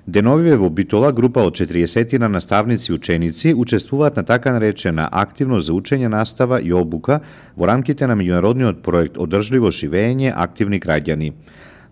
Деновиве во Битола група од 40 наставници и ученици учествуваат на така наречена активност за учење, настава и обука во рамките на меѓународниот проект Одржливо живење активни граѓани.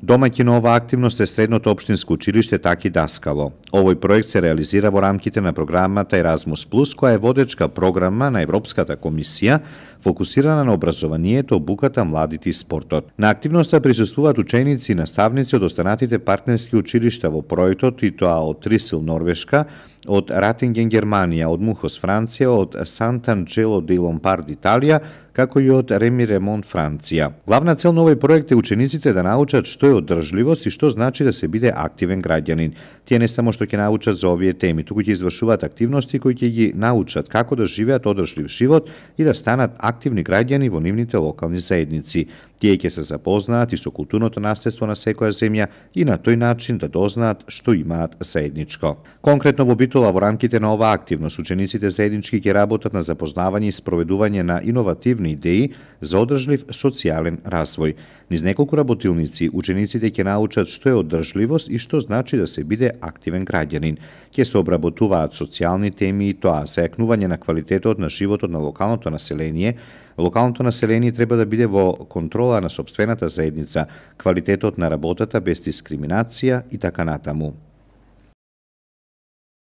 Домаќин на оваа активност е средното општинско училиште Таки Даскало. Овој проект се реализира во рамките на програмата Еразмус Плюс, која е водечка програма на Европската комисија, фокусирана на образованието, обуката, младите и спортот. На активноста присуствуваат ученици и наставници од останатите партнерски училишта во проектот, и тоа од Трисил, Норвешка, од Ратинген, Германија, од Мухос, Франција, од Сант'Анджело де Ломбард, Италија, како и од Реми Ремонт, Франција. Главна цел на овој проект е учениците да научат што е одржливост и што значи да се биде активен граѓанин. Тие не само што ќе научат за овие теми, туку ќе извршуваат активности кои ќе ги научат како да живеат одржлив живот и да станат активни граѓани во нивните локални заедници. Тие ќе се запознаат и со културното наследство на секоја земја и на тој начин да дознаат што имаат заедничко. Конкретно во Битола во рамките на оваа активност учениците заеднички ќе работат на запознавање и спроведување на иновативни идеи за одржлив социјален развој. Низ неколку работилници учениците ќе научат што е одржливост и што значи да се биде активен граѓанин. Ќе се обработуваат социјални теми и тоа за јакнување на квалитетот на животот на локалното население. Локалното население треба да биде во контрола на сопствената заедница, квалитетот на работата без дискриминација и така натаму.